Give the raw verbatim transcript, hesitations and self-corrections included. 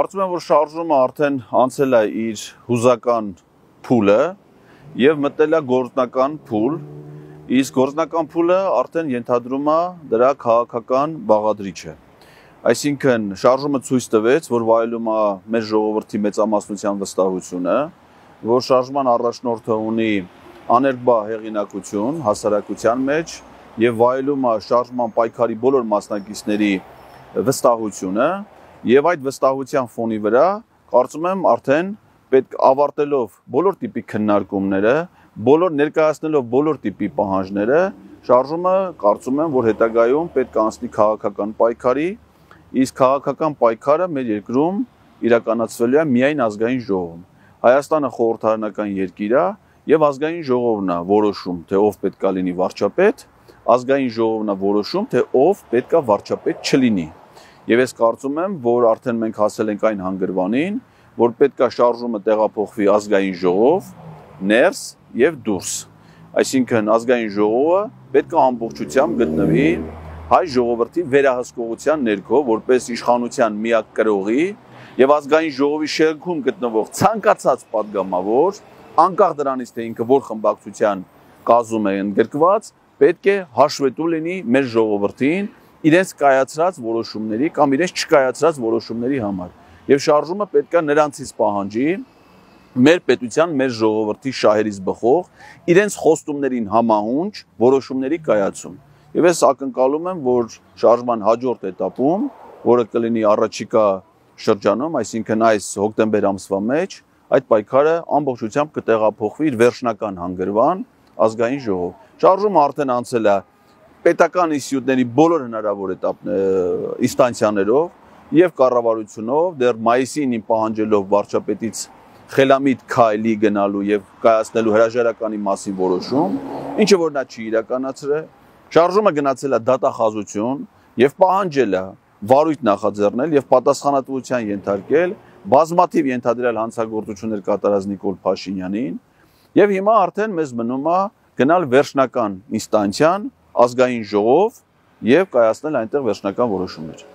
Կարծում եմ, որ շարժումը արդեն անցել է իր հուզական փուլը եւ մտել է գործնական փուլ, իսկ գործնական փուլը արդեն ենթադրում է դրա քաղաքական բաղադրիչը։ Այսինքն շարժումը ցույց տվեց, որ վայելում է մեր ժողովրդի մեծամասնության վստահությունը, որ շարժման առաջնորդը ունի աներկբա հեղինակություն հասարակության մեջ եւ վայելում է շարժման պայքարի բոլոր մասնակիցների վստահությունը եւ այդ վստահության ֆոնի վրա կարծում եմ արդեն պետք ավարտելով բոլոր տիպի քննարկումները, բոլոր ներկայացնելով բոլոր տիպի պահանջները, շարժումը կարծում եմ, որ հետագայում պետք է անցնի քաղաքական պայքարի, իսկ քաղաքական պայքարը մեր երկրում իրականացվելու է միայն ազգային ժողովում։ Հայաստանը խորհրդարանական երկիր է եւ ազգային ժողովն է որոշում, թե ով պետք է լինի վարչապետ, ազգային ժողովն է որոշում, թե ով պետք է վարչապետ չլինի։ Եվ ես կարծում եմ, որ արդեն մենք հասել ենք այն հանգրվանին, որ պետք է շարժումը տեղափոխվի ազգային ժողով, ներս եւ դուրս։ Այսինքն ազգային ժողովը պետք է ամբողջությամբ գտնվի հայ ժողովրդի վերահսկողության ներքո, որպես իշխանության միակ կրողի եւ ազգային ժողովի շենքում գտնվող ցանկացած падգամավոր, անկախ դրանից թե ինքը որ խմբակցության կազմում է ընդգրկված, պետք է հաշվետու լինի մեր ժողովրդին իրենց կայացրած որոշումների կամ իրենց չկայացրած որոշումների համար։ Եվ շարժումը պետք է նրանցից պահանջի մեր պետության, մեր ժողովրդի շահերից բխող, իրենց խոստումներին համահունչ որոշումների կայացում։ Եվ ես ակնկալում եմ, որ շարժման հաջորդ էտապում, որը կլինի առաջիկա շրջանում, այսինքն այս հոկտեմբեր ամսվա մեջ, այդ պայքարը ամբողջությամբ կտեղափոխվի իր վերջնական հանգրվան ազգային ժողով։ Շարժումը արդեն անցել է պետական ինստիտուտների բոլոր հնարավոր ինստանցիաներով եւ կառավարությունով, դեռ մայիսին պահանջելով վարչապետից խելամիտ քայլի գնալու եւ կայացնելու հրաժարականի մասին որոշում, ինչը որ նա չի իրականացրել, շարժումը գնացել է դատախազություն եւ պահանջել է վարույթ նախաձեռնել եւ պատասխանատվության ենթարկել բազմաթիվ ենթադրյալ հանցագործություններ կատարած Նիկոլ Փաշինյանին եւ հիմա արդեն մեզ մնում է գնալ վերջնական ինստանցիան ազգային ժողով եւ կայացնել այնտեղ վերջնական որոշումներ։